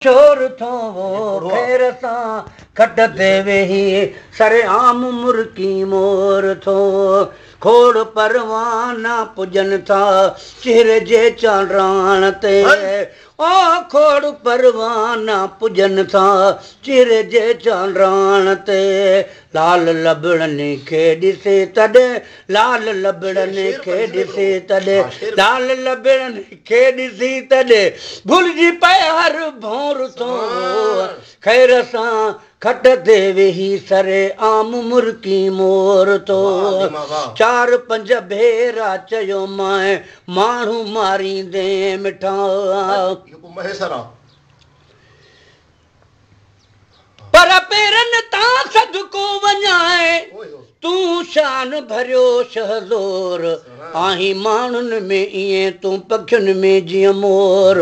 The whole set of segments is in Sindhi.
شور ٿو خير سان کٽ تي ويهي سرعام مرڪي مور ٿو. کوڙ پروانا پڄن ٿا چهري جي چانڊاڻ تي، او کوڙ پروانا پڄن ٿا چهري جي چانڊاڻ تي. لال لبڙن کي ڏسي تڏهن، لال لبڙن کي ڏسي تڏهن، لال لبڙن کي ڏسي تڏهن ڀلجي پئي هر ڀونر ٿو. خير سان کٽ تي ويهي سري عام مرڪي مور ٿو. چار پنج ڀيرا چيو مانءِ ماڻهو ماريندي مٺا، پر پيرن تان صدقو وڃائي تون شان ڀريو شهزور آهين. ماڻهن ۾ ائين تون پکين ۾ جيئن مور.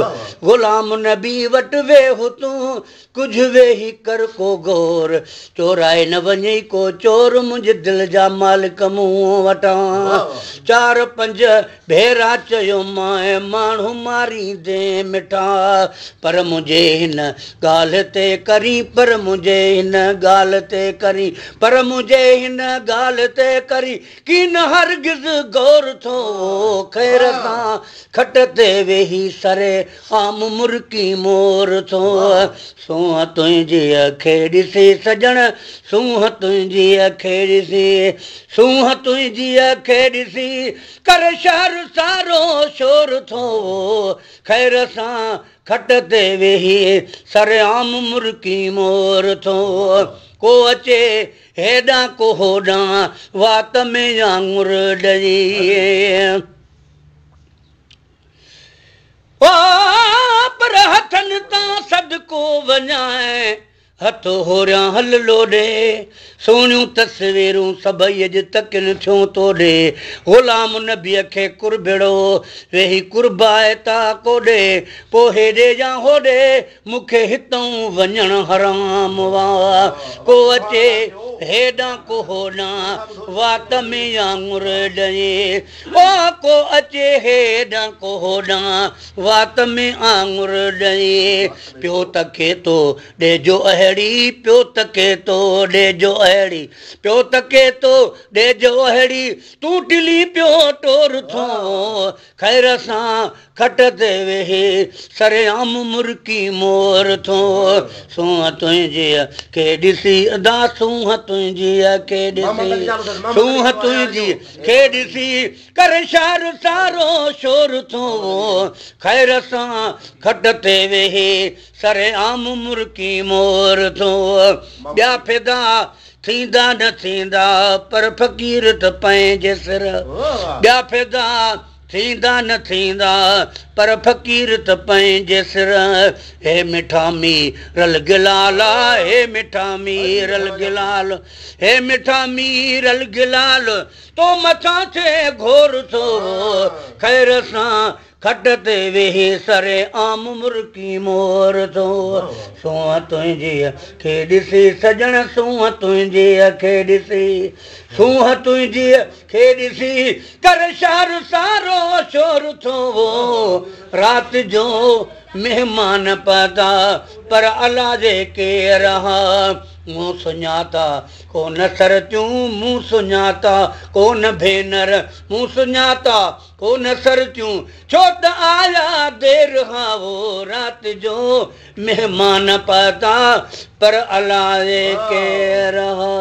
غلام نبي وٽ ويهه تون ڪجهه ويهي ڪر ڪو غور، چورائي نه وڃي ڪو چور منهنجي دل جا مالڪ مون وٽان. چار پنج ڀيرا چيو مانءِ ماڻهو ماريندي مٺا، پر منهنجي هن ڳالهه تي ڪرين، پر منهنجي هن ڳالهه تي ڪرين، پر منهنجي هن ڳالهه تي ڪرين ڪين هرگز غور ٿو. خير سان کٽ تي ويهي سري عام مرڪي مور ٿو. سونهن تنهنجي کي ڏسي سڄڻ، سونهن تنهنجي کي ڏسي، سونهن تنهنجي کي ڏسي ڪر شهر سارو شور ٿو. خير سان کٽ تي ويهي سرعام مرڪي مور ٿو. ڪو اچي هيڏان ڪو هوڏان وات ۾ آڱر ڏئي، او پر هٿن تان صدقو وڃائي هٿ هوريان هل لوڏي. سهڻيون تصويرون سڀئي اڄ تڪن ٿيون توڏي. غلام نبيء کي قربڙو ويهي قربائتا ڪوڏي. پوءِ هيڏي يا هوڏي مون کي هتان وڃڻ حرام وا. ڪو اچي هيڏان ڪو هوڏان وات ۾ آڱر ڏئي، او ڪو اچي هيڏان ڪو هوڏان وات ۾ آڱر ڏئي. پيو تکي ٿو ڏيجو اهڙي، پيو تکي ٿو ڏيجو اهڙي، پيو تکي ٿو ڏيجو اهڙي، تون ٽلي پيو ٽور ٿو. خير سان کٽ تي ويهي سرعام مرڪي مور ٿو. سونهن تنهنجي کي ڏسي ادا، سونهن تنهنجي کي ڏسي، سونهن تنهنجي کي ڏسي ڪر شهر سارو شور ٿو. خير سان کٽ تي ويهي سرعام مرڪي مور ٿو. ٻيا فدا ٿيندا نه ٿيندا پر فقير ته پنهنجي سر، ٻيا فدا ٿيندا نه ٿيندا پر فقير ته پنهنجي سر. هي مٺا ميرل گلال، هي مٺا ميرل گلال، هي مٺا ميرل گلال، تو مٿان ٿئي گهور ٿو. خير سان کٽ تي ويهي سري عام مرڪي مور ٿو. سونهن تنهنجي کي ڏسي سڄڻ، سونهن تنهنجي کي ڏسي، سونهن تنهنجي کي ڏسي ڪر شهر سارو شور ٿو. رات جو مهمان پتا پر الا جي ڪير ها. مون سڃاتا ڪونه سرتيون، مون سڃاتا ڪونه ڀينر، مون سڃاتا ڪونه سرتيون، ڇو ته آيا دير ها. رات جو مهمان پتا پر الائي ڪير ها.